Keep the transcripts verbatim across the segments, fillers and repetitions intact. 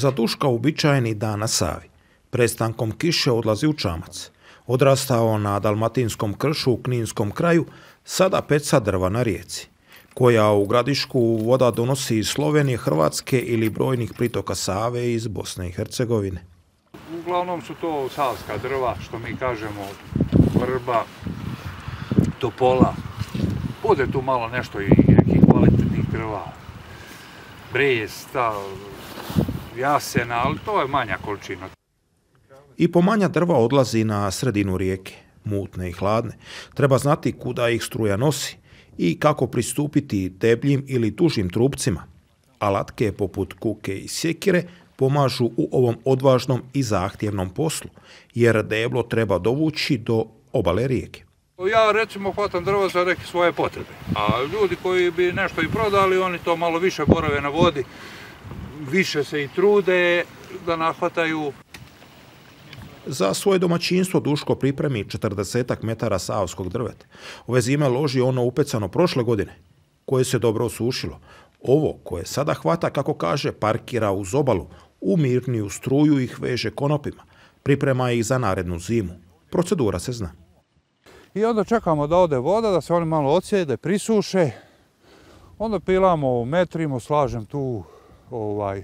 Za Duška uobičajeni dan na Savi. Prestankom kiše odlazi u čamac. Odrastao na dalmatinskom kršu u kninskom kraju, sada peca drva na rijeci, koja u Gradišku voda donosi iz Slovenije, Hrvatske ili brojnih pritoka Save iz Bosne i Hercegovine. Uglavnom su to savska drva, što mi kažemo, vrba, topola. Bude tu malo nešto i nekih kvalitetnih drva, bresta, jasena, ali to je manja količina. I po manja drva odlazi na sredinu rijeke, mutne i hladne. Treba znati kuda ih struja nosi i kako pristupiti debljim ili dužim trupcima. Alatke poput kuke i sjekire pomažu u ovom odvažnom i zahtjevnom poslu, jer deblo treba dovući do obale rijeke. Ja recimo hvatam drvo za neke svoje potrebe, a ljudi koji bi nešto i prodali, oni to malo više borave na vodi, više se i trude da nahvataju. Za svoje domaćinstvo Duško pripremi četrdesetak metara savskog drveta. Ove zime loži ono upecano prošle godine, koje se dobro osušilo. Ovo koje sada hvata, kako kaže, parkira uz obalu, u mirniju struju ih veže konopima. Priprema ih za narednu zimu. Procedura se zna. I onda čekamo da ode voda, da se oni malo odsjede, prisuše. Onda pilamo, metrimo, slažem tu ovaj,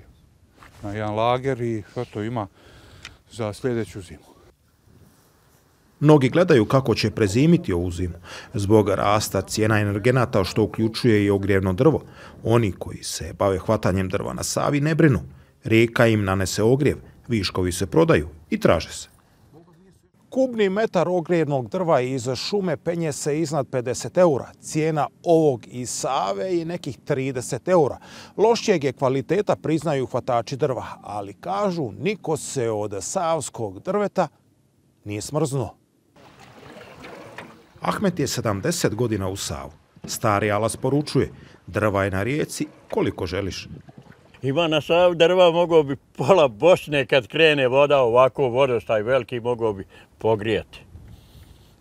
na jedan lager i sve to ima za sljedeću zimu. Mnogi gledaju kako će prezimiti ovu zimu. Zbog rasta cijena energenata, što uključuje i ogrijevno drvo, oni koji se bave hvatanjem drva na Savi ne brinu. Rijeka im nanese ogrjev, viškovi se prodaju i traže se. Kubni metar ogrijevnog drva iz šume penje se iznad pedeset eura. Cijena ovog iz Save je nekih trideset eura. Lošijeg je kvaliteta, priznaju hvatači drva, ali kažu niko se od savskog drveta nije smrznuo. Ahmet je sedamdeset godina u Savu. Stari alas poručuje, drva je na rijeci koliko želiš. Ima na Savi drva, mogao bi pola Bosne kad krene voda, ovako vodostaj veliki, mogao bi pogrijati.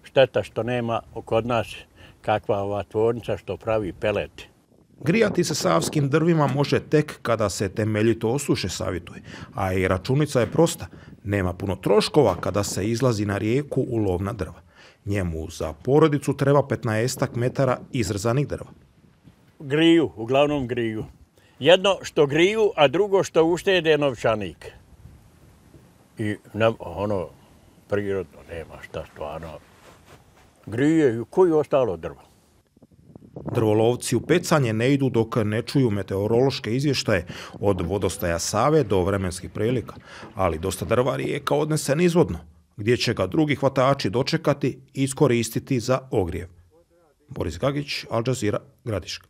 Šteta što nema kod nas kakva ova tvornica što pravi pelete. Grijati se savskim drvima može tek kada se temeljito osuše, savjetuje. A i računica je prosta. Nema puno troškova kada se izlazi na rijeku u lov na drva. Njemu za porodicu treba petnaestak metara izrzanih drva. Griju, uglavnom griju. Jedno što griju, a drugo što uštede novčanik. I ne, ono, prirodno nema šta stvarno. Grije, koji ostalo drvo? Drvolovci u pecanje ne idu dok ne čuju meteorološke izvještaje od vodostaja Save do vremenskih prilika, ali dosta drva rijeka odnese nizvodno, gdje će ga drugi hvatači dočekati i iskoristiti za ogrijev. Boris Gagić, Al Jazeera, Gradiška.